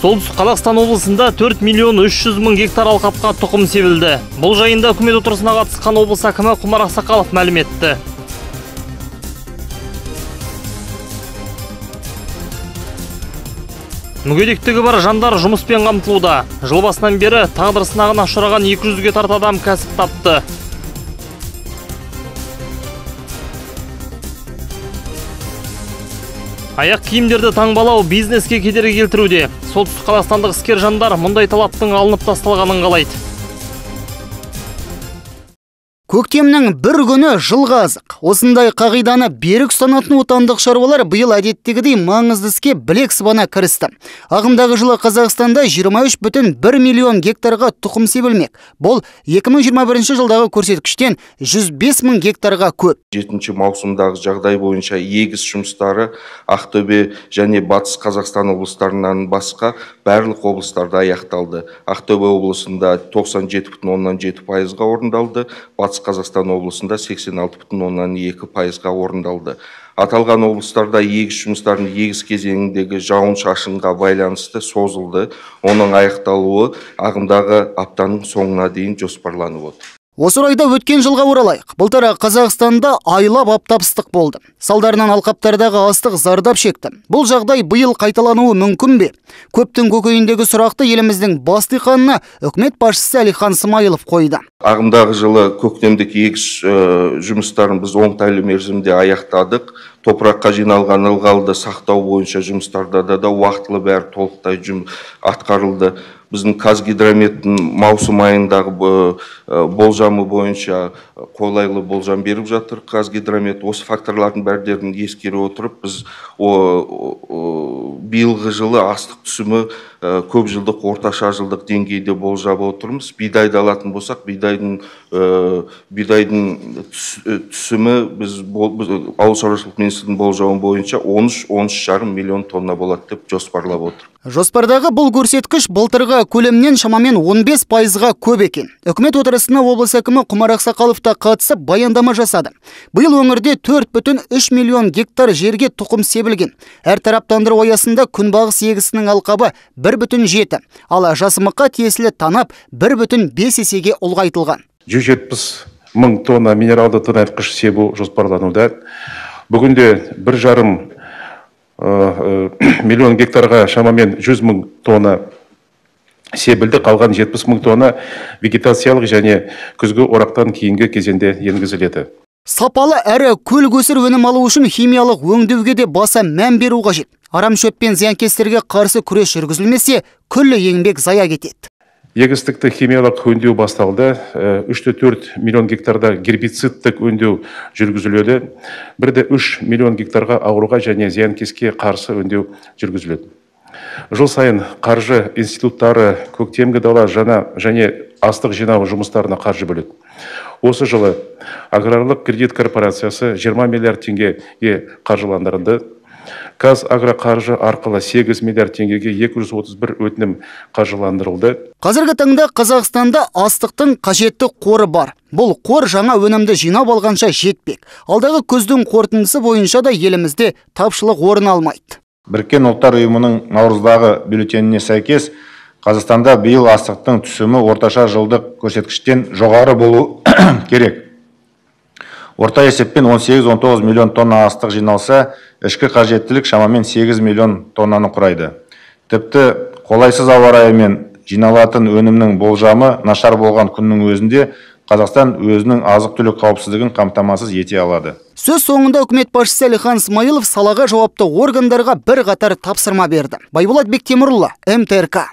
Солтүстік Қазақстан облысында 4 миллион 300 мың гектар алқапқа тұқым себілді. Бұл жайында үкімет отырысына қатысқан облыс әкімі Құмар Ақсақалов мәлім етті. Мүгедектігі бар жандар жұмыспен қамтылуда. Жыл басынан бері тағдыр сынағына ұшыраған 200-ге тарта адам кәсіп тапты. Аяқ киімдерді таңбалау бизнеске кедергі келтіруде. Солтүстік қазақстандық іскер жандар мұндай талаптың алынып тасталғанын қалайды. Көктемнің бір күні жылға азық. Осындай қағиданы берік ұстанатын отандық шаруалар биыл әдеттегідей маңызды іске білек сыбана кірісті. Ағымдағы жылы Қазақстанда 23,1 миллион гектарға тұқым себілмек. Бұл 2021 жылдағы көрсеткіштен 105 мың гектарға көп. 7 маусымдағы жағдай бойынша егіс жұмыстары Ақтөбе және Батыс Қазақстан облыстарынан басқа барлық облыстарда аяқталды. Ақтөбе облысында 97,7%-ға орындалды. Батыс Қазақстан облысында 86,2%-ға орындалды. Аталған облыстарда егіс жұмыстарын егіс кезеңіндегі жауын-шашынға байланысты созылды. Оның аяқталуы ағымдағы аптаның соңына дейін жоспарланып отыр. Осы орайда өткен жылға оралайық. Былтыр Қазақстанда айлап аптап ыстық болды. Салдарынан алқаптардағы астық зардап шекті. Бұл жағдай биыл қайталануы мүмкін бе? Көптің көкейіндегі сұрақты еліміздің бас диқанына үкімет басшысы Әлихан Смайылов қойды. Ағымдағы жылы көктемдік егіс жұмыстарын біз оңтайлы мерзімде аяқтадық. Топыраққа жиналған ылғалды сақтау бойынша жұмыстарда да уақытылы бәрі толықтай атқарылды. Біздің Қазгидрометтің маусым айындағы болжамы бойынша қолайлы болжам беріп жатыр. Қазгидромет осы факторлардың бәрдерін ескере отырып, біз биылғы жылы астық түсімі көп жылдық, орташа жылдық деңгейде болжап отырмыз. Бидайды алатын болсақ, бидайдың түсімі біз ауыл шаруашылық министрлігінің болжауы бойынша 13,5 миллион тонна болады деп жоспарлап отыр. Жоспардағы бұл көрсеткіш былтырғы көлемнен шамамен 15%-ға көп екен. Үкімет отырысына облыс әкімі Құмар Ақсақалов та қатысып баяндама жасады. Биыл өңірде 4,3 миллион гектар жерге тұқым себілген. Әр тараптандыру аясында күнбағыс егісінің алқабы 1,7, ал жасымыққа тиесілі танап 1,5 есеге ұлғайтылған. 170 мың тонна минералды тыңайтқыш себу жоспарлануда. Бүгінде 1,5 миллион гектарға шамамен 100 мың тонна себілді, қалған 70 мың тонна вегетациялық және күзгі орақтан кейінгі кезеңде енгізіледі. Сапалы әрі көл көсір өнім алу үшін химиялық өңдеуге де баса мән беру қажет. Арам шөп пен зиянкестерге қарсы күрес жүргізілмесе, күллі еңбек зая кетеді. Егістікті химиялық өңдеу басталды. 3,4 миллион гектарда гербицидтік өңдеу жүргізіледі. 1,3 миллион гектарға ауруға және зиянкеске қарсы өңдеу жүргізіледі. Жыл сайын қаржы институттары көктемгі дала және астық жинау жұмыстарына қаржы бөледі. Осы жылы аграрлық кредит корпорациясы 20 миллиард теңгеге қаржыландырылды. Қазагроқаржы арқылы 8 миллиард теңгеге 231 өтінім қаржыландырылды. Қазіргі таңда Қазақстанда астықтың қажетті қоры бар. Бұл қор жаңа өнімді жинап алғанша жетпек. Алдағы күздің қорытындысы бойынша да елімізде тапшылық орын алмайды. Біріккен ұлттар ұйымының наурыздағы бюллетеніне сәйкес, Қазақстанда биыл астықтың түсімі орташа жылдық көрсеткіштен жоғары болу керек. Орта есеппен 18-19 миллион тонна астық жиналса, ішкі қажеттілік шамамен 8 миллион тоннаны құрайды. Тіпті қолайсыз ауа райымен жиналатын өнімнің болжамы нашар болған күннің өзінде Қазақстан өзінің азық-түлік қауіпсіздігін қамтамасыз ете алады. Сөз соңында үкімет басшысы Әлихан Смайылов салаға жауапты органдарға бір қатар тапсырма берді. Байболат Бектемірұлы, МТРК.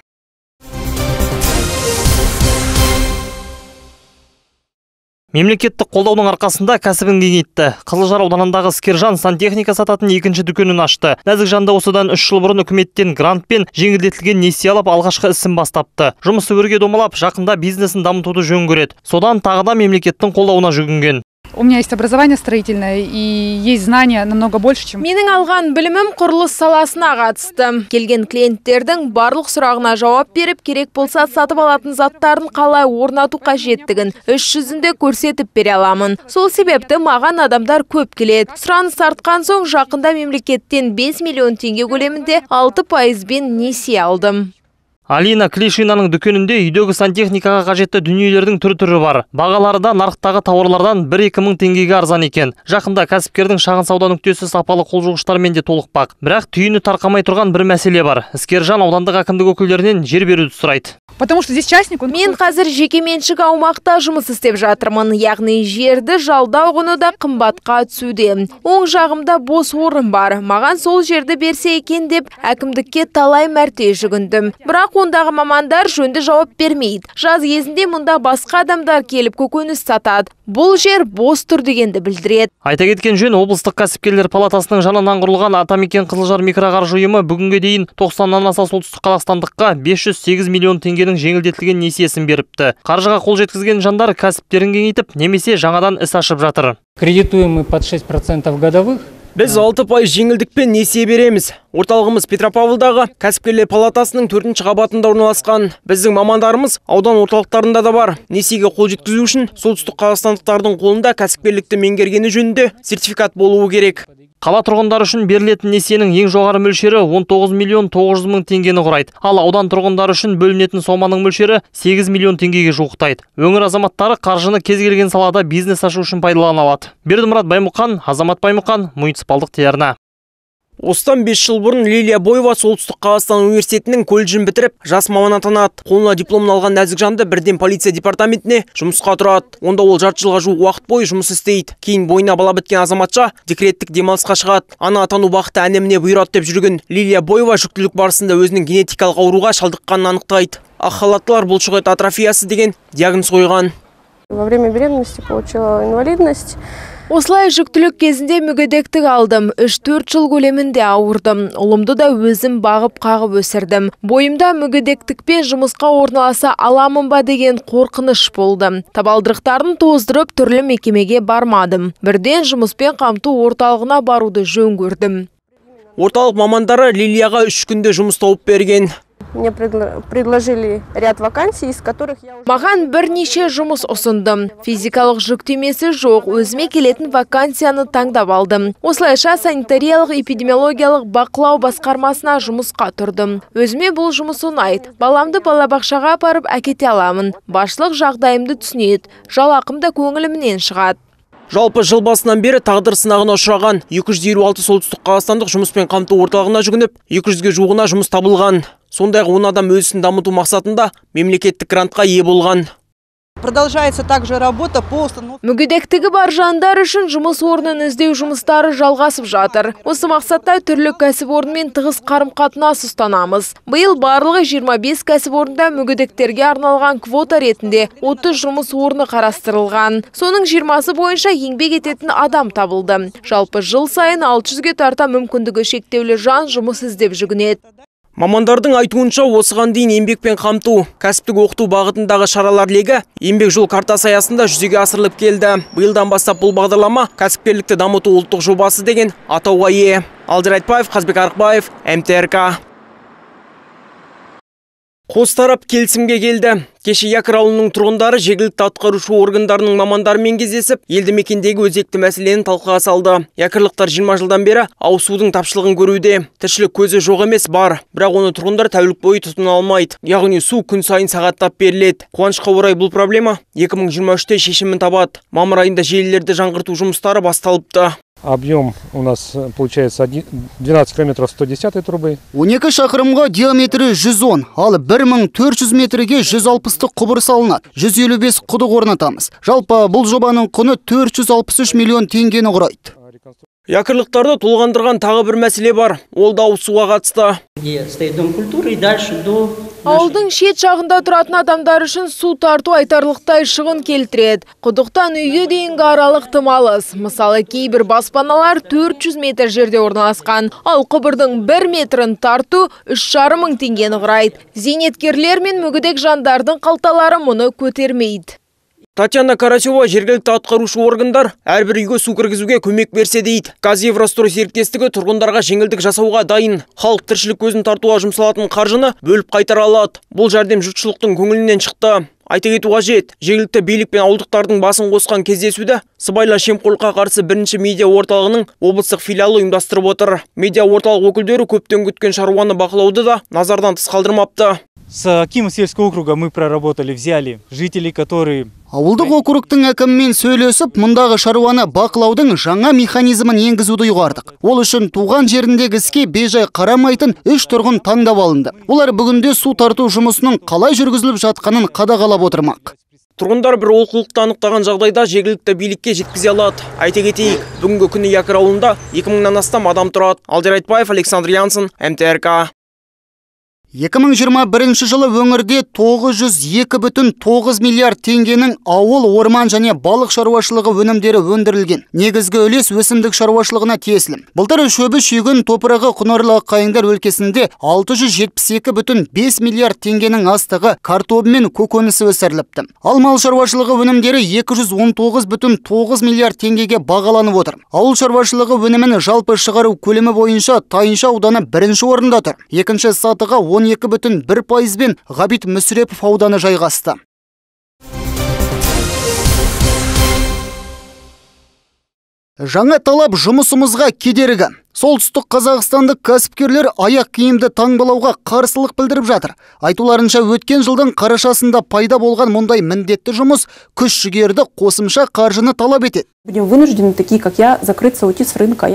Мемлекеттік қолдаудың арқасында кәсібін кеңейтті. Қызылжар ауданындағы іскержан сантехника сататын екінші дүкенін ашты. Нәзік жанды осыдан 3 жыл бұрын үкіметтен грант пен жеңілдетілген несие алып алғашқы ісін бастапты. Жұмысы өрге домалап, жақында бизнесін дамытуды жөн көреді. Содан тағы да мемлекеттің қолдауына жүгінген. У меня есть образование строительное и есть знания намного больше, чем... Менің алған білімім құрылыс саласына қатысты. Келген клиенттердің барлық сұрағына жауап беріп, керек болса сатып алатын заттарын қалай орнату қажеттігін іс жүзінде көрсетіп бере аламын. Сол себепті маған адамдар көп келеді. Сұраныс артқан соң жақында мемлекеттен 5 миллион теңге көлемінде 6%-бен несие алдым. Алина Клишинаның дүкенінде үйдегі сантехникаға қажетті дүниелердің түрі бар. Бағалары да нарықтағы тауарлардан 1-2 мың теңгеге арзан екен. Жақында кәсіпкердің шағын сауда нүктесі сапалы қолжуғыштармен де толықпақ. Бірақ түйіні тарқамай тұрған бір мәселе бар. Іскержан аудандық әкімдік өкілдерінен жер беруді сұрайды. Потому что здесь частник... Мен қазір жекеменшік аумақта жұмыс істеп жатырмын. Яғни жерді жалдау құны да қымбатқа түсуде. Оң жағымда бос орын бар. Маған сол жерді берсе екен деп әкімдікке талай мәрте жүгіндім. Бірақ ондағы мамандар жөнді жауап бермейді. Жаз кезінде мұнда басқа адамдар келіп көкөніс сатады. Бұл жер бос тұр дегенді білдіреді. Айта кеткен жөн, облыстық кәсіпкерлер палатасының жанынан құрылған Атамекен Қызылжар микроқаржы ұйымы бүгінге дейін 90-нан аса солтүстік қазақстандыққа 508 миллион теңгенің жеңілдетілген несиесін беріпті. Қаржыға қол жеткізген жандар кәсіптерін кеңейтіп, немесе жаңадан іс ашып жатыр. Кредитуем мы под 6% годовых. Біз 6% жеңілдікпен несие береміз. Орталығымыз Петропавлдағы кәсіпкерлер палатасының 4-ші қабатында орналасқан. Біздің мамандарымыз аудан орталықтарында да бар. Несиеге қол жеткізу үшін солтүстік қазақстандықтардың қолында кәсіпкерлікті меңгергені жөнінде сертификат болуы керек. Қала тұрғындары үшін берілетін несиенің ең жоғары мөлшері 19 миллион 900 мың теңгені құрайды. Ал аудан тұрғындары үшін бөлінетін соманың мөлшері 8 миллион теңгеге жуықтайды. Өңір азаматтары қаржыны кез келген салада бизнес ашу үшін пайдалана алады. Бердімұрат Баймұқан, Азамат Баймұқан, муниципалдық телеарна. Осыдан 5 жыл бұрын Лилия Боева солтүстік Қазақстан университетінің колледжін бітіріп, жас маман атанады. Қолына дипломын алған нәзік жанды бірден полиция департаментіне жұмысқа тұрады. Онда ол жарты жылға жуық уақыт бойы жұмыс істейді. Кейін бойына бала біткен азаматша декреттік демалысқа шығады. Ана атану бақыты әнеміне бұйырады деп жүрген Лилия Боева жүктілік барысында өзінің генетикалық ауруға шалдыққанын анықтайды. Ақ халаттылар бұлшықет атрофиясы деген диагноз қойған. Во время беременности получила инвалидность. Осылай жүктілік кезінде мүгедектік алдым. 3-4 жыл көлемінде ауырдым. Ұлымды да өзім бағып қағып өсірдім. Бойымда мүгедектікпен жұмысқа орналаса аламын ба деген қорқыныш болды. Табалдырықтарын тоздырып түрлі мекемеге бармадым. Бірден жұмыспен қамту орталығына баруды жөн көрдім. Орталық мамандары Лилияға 3 күнде жұмыс тауып берген. Мне предложили ряд вакансий, из которых я уже... Маған бірнеше жұмыс ұсындым. Физикалық жүктемесі жоқ, өзіме келетін вакансияны таңдап алдым. Осылайша санитариялық эпидемиологиялық бақылау басқармасына жұмысқа тұрдым. Өзіме бұл жұмыс ұнайды. Баламды балабақшаға апарып әкете аламын. Басшылық жағдайымды түсінеді. Жалақым да көңілімнен шығады. Жалпы жыл басынан бері тағдыр сынағына ұшыраған 256 солтүстік қазақстандық жұмыспен қамту орталығына жүгініп, 200-ге жуығына жұмыс табылған. Сондай 10 адам өз ісін дамыту мақсатында мемлекеттік грантқа ие болған. Продолжается также работа по установке. Мүгедектігі бар жандар үшін жұмыс орнын іздеу жұмыстары жалғасып жатыр. Осы мақсатта түрлі кәсіпорынмен тығыз қарым-қатынас ұстанамыз. Биыл барлығы 25 кәсіпорында мүгедектерге арналған квота ретінде 30 жұмыс орны қарастырылған. Соның 20-сы бойынша еңбек ететін адам табылды. Жалпы жыл сайын 600-ге тарта мүмкіндігі шектеулі жан жұмыс іздеп жүгінеді. Мамандардың айтуынша осыған дейін еңбекпен қамту, кәсіптік оқыту бағытындағы шаралар легі еңбек жол картасы аясында жүзеге асырылып келді. Биылдан бастап бұл бағдарлама кәсіпкерлікті дамыту ұлттық жобасы деген атауға ие. Алдияр Айтбаев, Қазбек Арықбаев, МТРК. Қос тарап келісімге келді. Кеше Якыр ауылының тұрғындары жергілікті атқарушы органдарының мамандарымен кездесіп, елді мекендегі өзекті мәселені талқыға салды. Якырлықтар 20 жылдан бері ауыз судың тапшылығын көруде. Тіршілік көзі жоқ емес бар, бірақ оны тұрғындар тәулік бойы тұтына алмайды. Яғни су күн сайын сағаттап беріледі. Қуанышқа орай бұл проблема 2023-те шешімін табады. Мамыр айында желілерді жаңғырту жұмыстары басталыпты. Объем у нас получается 12 километров 110 трубы. 12 шақырымға диаметрі 110, ал 1400 метрге 160 құбыр салынады. 155 құдық орнатамыз. Жалпы бұл жобаның құны 463 миллион теңгені құрайды. Якырлықтарды толғандырған тағы бір мәселе бар. Ол да ауыз суға қатысты. Ауылдың шет жағында тұратын адамдар үшін су тарту айтарлықтай шығын келтіреді. Құдықтан үйге дейінгі аралық тым алыс. Мысалы, кейбір баспаналар 400 метр жерде орналасқан, ал құбырдың 1 метрін тарту 3,5 мың теңгені құрайды. Зейнеткерлер мен мүгедек жандардың қалталары мұны көтермейді. Татьяна Карасева жергілікті атқарушы органдар әрбір үйге су кіргізуге көмек берсе дейді. Казеврострой серіктестігі тұрғындарға жеңілдік жасауға дайын. Халық тіршілік көзін тартуға жұмсалатын қаржыны бөліп қайтара алады. Бұл жәрдем жұртшылықтың көңілінен шықты. Айта кету қажет, жергілікті билік пен ауылдықтардың басын қосқан кездесуді сыбайлас жемқорлыққа қарсы бірінші медиа орталығының облыстық филиалы ұйымдастырып отыр. Медиа орталық өкілдері көптен күткен шаруаны бақылауды да назардан тыс қалдырмапты. С Акима сельского округа мы проработали, взяли жителей, которые... Ауылдық округтың әкімімен сөйлесіп, мұндағы шаруаны бақылаудың жаңа механизмін енгізуді ұйғардық. Ол үшін туған жеріндегі іске бейжай қарамайтын 3 тұрғын таңдап алынды. Олар бүгінде су тарту жұмысының қалай жүргізіліп жатқанын қадағалап отырмақ. Тұрғындар бір олқылықты анықтаған жағдайда жергілікті билікке жеткізе алады. Айта кетейік, бүгінгі күні Якыр ауылында 2000-нан астам адам тұрады. Алдияр Айтбаев, Александр Янсен, МТРК. 2021 жылы өңірде 902,9 миллиард теңгенің ауыл, орман және балық шаруашылығы өнімдері өндірілген. Негізгі үлес өсімдік шаруашылығына тиесілі. Былтыр шөбі шүйгін топырағы құнарлы қайыңдар өлкесінде 672,5 миллиард теңгенің астығы, картобы мен көкөнісі өсіріліпті. Ал мал шаруашылығы өнімдері 219,9 миллиард теңгеге бағаланып отыр. Ауыл шаруашылығы өнімін жалпы шығару көлемі бойынша Тайынша ауданы бірінші орында тұр. Екінші сатыға 12,1%-бен Ғабит Мүсірепов ауданы жайғасты. Жаңа талап жұмысымызға кедергі. Солтүстік қазақстандық кәсіпкерлер аяқ киімді таңбалауға қарсылық білдіріп жатыр. Айтуларынша өткен жылдың қарашасында пайда болған мұндай міндетті жұмыс күш-жүгерді қосымша қаржыны талап етеді.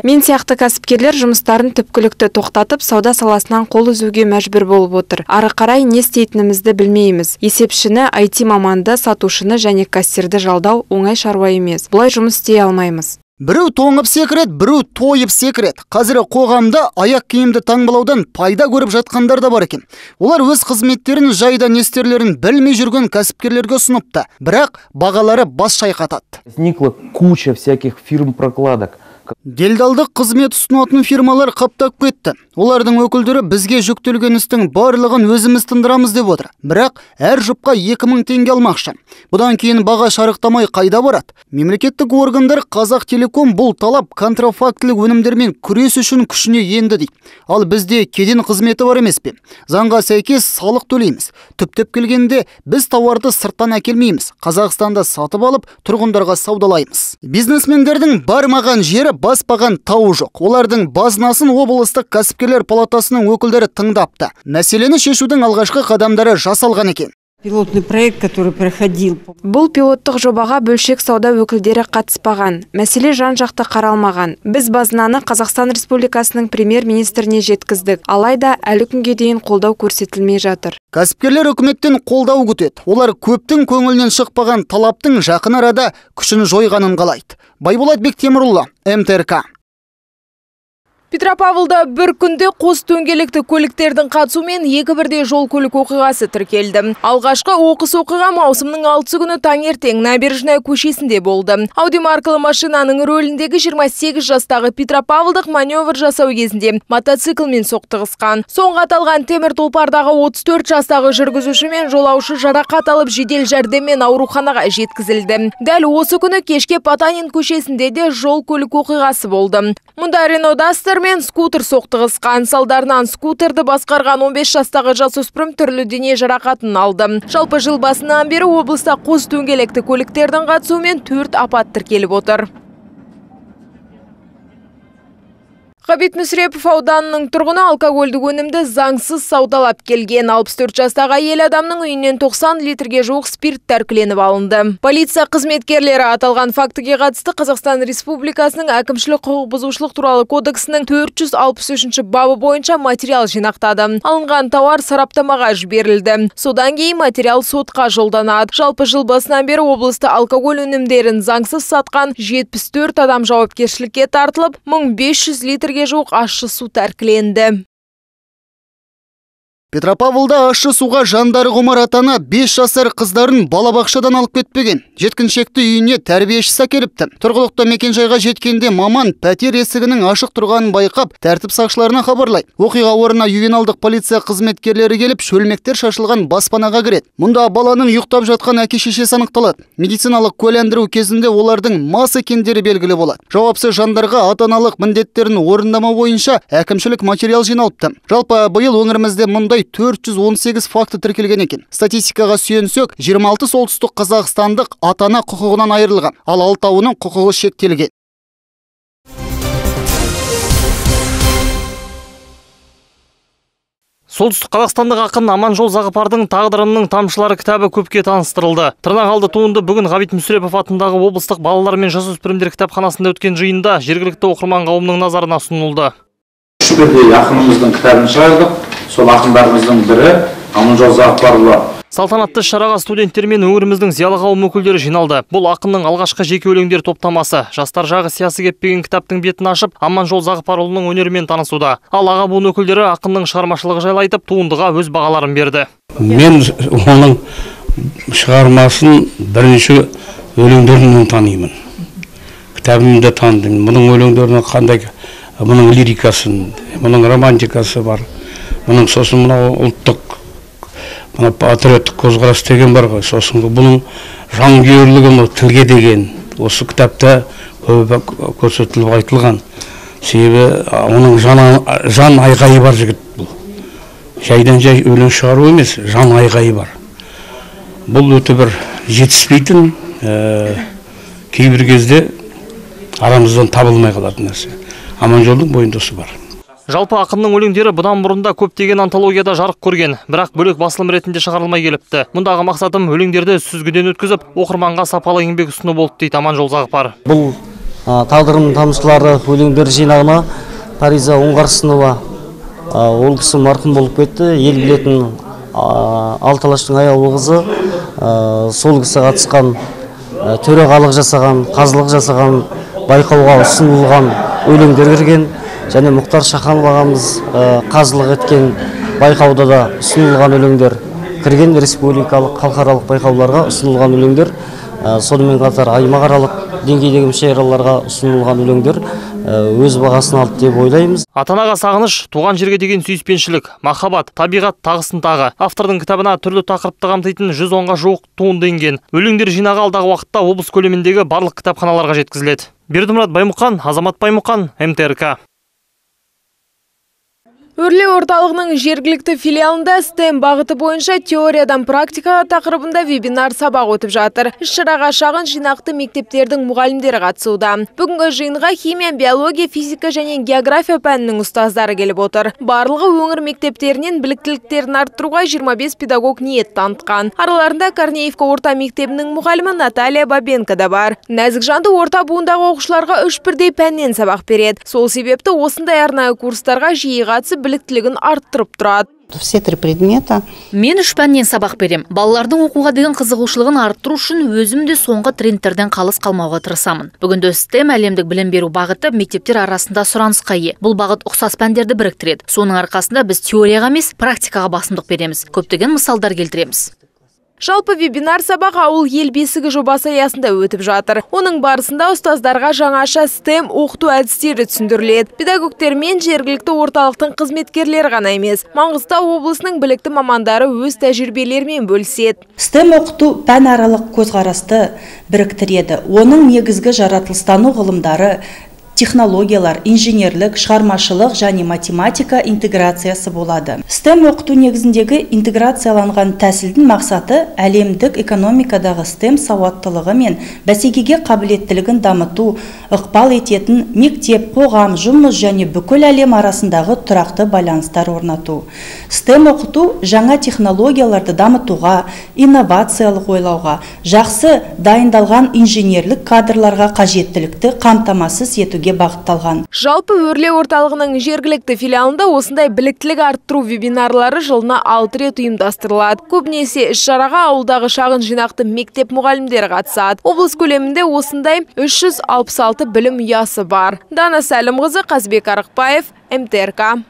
Мен сияқты кәсіпкерлер жұмыстарын түпкілікті тоқтатып, сауда саласынан қол үзуге мәжбүр болып отыр. Ары қарай не істейтінімізді білмейміз. Есепшіні, IT маманды, сатушыны және кассирді жалдау оңай шаруа емес. Бұлай жұмыс істей алмаймыз. Біреу тоңып секірет, біреу тойып секірет. Қазір қоғамда аяқ киімді таңбалаудан пайда көріп жатқандар да бар екен. Олар өз қызметтерін жайда не істерлерін білмей жүрген кәсіпкерлерге ұсыныпты. Бірақ бағалары бас шайқатады. Возникла куча всяких фирм-прокладок. Делдалдық қызмет ұсынатын фирмалар қаптап кетті. Олардың өкілдері бізге жүктелген істің барлығын өзіміз тындырамыз деп отыр. Бірақ әр жұпқа 2000 теңге алмақшы. Бұдан кейін баға шарықтамай қайда барады? Мемлекеттік органдар Қазақтелеком бұл талап контрафактілік өнімдермен күрес үшін күшіне енді дейді. Ал бізде кеден қызметі бар емес пе? Заңға сәйкес салық төлейміз. Түптеп келгенде біз тауарды сырттан әкелмейміз. Қазақстанда сатып алып, тұрғындарға саудалаймыз. Бизнесмендердің бармаған жері баспаған тауы жоқ. Олардың базынасын облыстық кәсіпкерлер палатасының өкілдері тыңдапты. Мәселені шешудің алғашқы қадамдары жасалған екен. Пилотный проект, который проходил. Бұл пилоттық жобаға бөлшек сауда өкілдері қатыспаған. Мәселе жан-жақты қаралмаған. Біз базынаны Қазақстан Республикасының премьер-министріне жеткіздік. Алайда әлі күнге дейін қолдау көрсетілмей жатыр. Кәсіпкерлер үкіметтен қолдау күтеді. Олар көптің көңілінен шықпаған талаптың жақын арада күшін жойғанын қалайды. Байболат Бектемірұлы, МТРК. Петропавлда бір күнде қос дөңгелекті көліктердің қатысуымен екі бірдей жол көлік оқиғасы тіркелді. Алғашқы оқыс оқиға маусымның 6 күні таңертең Набережная көшесінде болды. Ауди маркалы машинаның рөліндегі 28 жастағы Петропавлдық маневр жасау кезінде мотоциклмен соқтығысқан. Соңғы аталған темір тұлпардағы 34 жастағы жүргізуші мен жолаушы жарақат алып жедел жәрдеммен ауруханаға жеткізілді. Дәл осы күні кешке Потанин көшесінде де жол көлік оқиғасы болды. Мұнда Renault Duster мен скутер соқтығысқан. Салдарынан скутерді басқарған 15 жастағы жасөспірім түрлі дене жарақатын алды. Жалпы жыл басынан бері облыста қос дөңгелекті көліктердің қатысуымен 4 апат тіркеліп отыр. Ғабит Мүсірепов ауданының тұрғыны алкогольдік өнімді заңсыз саудалап келген. 64 жастағы әйел адамның үйінен 90 литрге жуық спирт тәркіленіп алынды. Полиция қызметкерлері аталған фактіге қатысты Қазақстан Республикасының әкімшілік құқық бұзушылық туралы кодексінің 463 бабы бойынша материал жинақтады. Алынған тауар сараптамаға жіберілді. Содан кейін материал сотқа жолданады. Жалпы жыл басынан бері облыста алкоголь өнімдерін заңсыз сатқан 74 адам жауапкершілікке тартылып, 1500 литрге жуық ащы су тәркіленді. Петропавлда ащы суға жандары құмар атана 5 жасар қыздарын балабақшадан алып кетпеген. Жеткіншекті үйіне тәрбиешісі әкеліпті. Тұрғылықты мекенжайға жеткенде маман пәтер есігінің ашық тұрғанын байқап, тәртіп сақшыларына хабарлайды. Оқиға орнына ювеналдық полиция қызметкерлері келіп, шөлмектер шашылған баспанаға кіреді. Мұнда баланың ұйықтап жатқан әке-шешесі анықталады. Медициналық куәландыру кезінде олардың мас екендері белгілі болады. Жауапсыз жандарға ата-аналық міндеттерін орындамау бойынша әкімшілік материал жиналыпты. Жалпы биыл өңірімізде мұндай 418 факті тіркелген екен. Статистикаға сүйенсек, 26 солтүстік қазақстандық ата-ана құқығынан айырылған, ал 6-ының құқығы шектелген. Солтүстік Қазақстандық ақын Аманжол Зағыпардың «Тағдырымның тамшылары» кітабы көпке таныстырылды. Тырнақалды туынды бүгін Ғабит Мүсірепов атындағы облыстық балалар мен жасөспірімдер кітапханасында өткен жиында жергілікті оқырман қауымның назарына ұсынылды. Үш бірдей ақынымыздың кітабын шығардық. Сол ақындарымыздың бірі Аманжол Зағыпарұлы. Салтанатты шараға студенттер мен өңіріміздің зиялы қауым өкілдері жиналды. Бұл ақынның алғашқы жеке өлеңдер топтамасы. Жастар жағы сиясы кеппеген кітаптың бетін ашып, Аманжол Зағыпарұлының өнерімен танысуда. Ал аға буын өкілдері ақынның шығармашылығы жайлы айтып, туындыға өз бағаларын берді. Мен оның шығармасын бірінші өлеңдерінен танимын. Кітабымды таныдым. Мұның өлеңдерінің қандай, мұның лирикасын, мұның романтикасы бар. Мұның сосын мынау ұлттық патриоттық көзқарас деген бар ғой. Сосын бұның жанкүйерлігі, тілге деген осы кітапта көп көрсетіліп айтылған. Себебі оның жан айғайы бар жігіт бұл. Жайдан жай өлең шығару емес, жан айғайы бар. Бұл өте бір жетіспейтін, кейбір кезде арамыздан табылмай қалатын нәрсе. Аманжолдың бойында осы бар. Жалпы ақынның өлеңдері бұдан бұрында көптеген антологияда жарық көрген, бірақ бөлек басылым ретінде шығарылмай келіпті. Мұндағы мақсатым өлеңдерді сүзгіден өткізіп, оқырманға сапалы еңбек ұсыну болды дейді Аманжол Зағыпар. Бұл «Тағдырымның тамшылары» өлеңдер жинағына Париза Оңғарсынова ол кісі марқұм болып кетті. Ел білетін Алталаштың аяулы қызы сол кісі қатысқан, төрағалық жасаған, қазылық жасаған, байқауға ұсынылған өлеңдер кірген. Және Мұхтар Шаханов ағамыз қазылық еткен байқауда да ұсынылған өлеңдер кірген, республикалық, халықаралық байқауларға ұсынылған өлеңдер, сонымен қатар аймақаралық деңгейдегі мүшәйраларға ұсынылған өлеңдер өз бағасын алды деп ойлаймыз. Ата-анаға сағыныш, туған жерге деген сүйіспеншілік, махаббат, табиғат тағысын тағы. Автордың кітабына түрлі тақырыпты қамтитын 110-ға жуық туынды енген. Өлеңдер жинағы алдағы уақытта облыс көлеміндегі барлық кітапханаларға жеткізіледі. Бердімұрат Баймұқан, Азамат Баймұқан, МТРК. Өрлеу орталығының жергілікті филиалында STEM бағыты бойынша теориядан практикаға тақырыбында вебинар сабақ өтіп жатыр. Іс-шараға шағын жинақты мектептердің мұғалімдері қатысуда. Бүгінгі жиынға химия, биология, физика және география пәнінің ұстаздары келіп отыр. Барлығы өңір мектептерінен біліктіліктерін арттыруға 25 педагог ниет танытқан. Араларында Корнеевка орта мектебінің мұғалімі Наталья Бабенко да бар. Нәзік жанды орта буындағы оқушыларға 3 бірдей пәннен сабақ береді. Сол себепті осындай арнайы курстарға жиі қатысып біліктілігін арттырып тұрады. Все 3 предмета. Мен 3 пәннен сабақ берем. Балалардың оқуға деген қызығушылығын арттыру үшін өзім де соңғы трендтерден қалыс қалмауға тырысамын. Бүгінде STEM әлемдік білім беру бағыты мектептер арасында сұранысқа ие. Бұл бағыт ұқсас пәндерді біріктіреді. Соның арқасында біз теорияға емес, практикаға басымдық береміз. Көптеген мысалдар келтіреміз. Жалпы вебинар сабақ ауыл ел бесігі жобасы аясында өтіп жатыр. Оның барысында ұстаздарға жаңаша STEM оқыту әдістері түсіндіріледі. Педагогтер мен жергілікті орталықтың қызметкерлері ғана емес, Маңғыстау облысының білікті мамандары өз тәжірибелерімен бөліседі. STEM оқыту пәнаралық көзқарасты біріктіреді. Оның негізгі жаратылыстану ғылымдары, технологиялар, инженерлік, шығармашылық және математика интеграциясы болады. STEM оқыту негізіндегі интеграцияланған тәсілдің мақсаты әлемдік экономикадағы STEM сауаттылығы мен бәсекеге қабілеттілігін дамыту, ықпал ететін мектеп, қоғам, жұмыс және бүкіл әлем арасындағы тұрақты байланыстар орнату. STEM оқыту жаңа технологияларды дамытуға, инновациялық ойлауға, жақсы дайындалған инженерлік кадрларға қажеттілікті қамтамасыз етуге бағытталған. Жалпы өрлеу орталығының жергілікті филиалында осындай біліктілік арттыру вебинарлары жылына 6 рет ұйымдастырылады. Көбінесе іс-шараға ауылдағы шағын жинақты мектеп мұғалімдері қатысады. Облыс көлемінде осындай 366 білім ұясы бар. Дана Сәлімқызы, Қазбек Арықбаев, МТРК.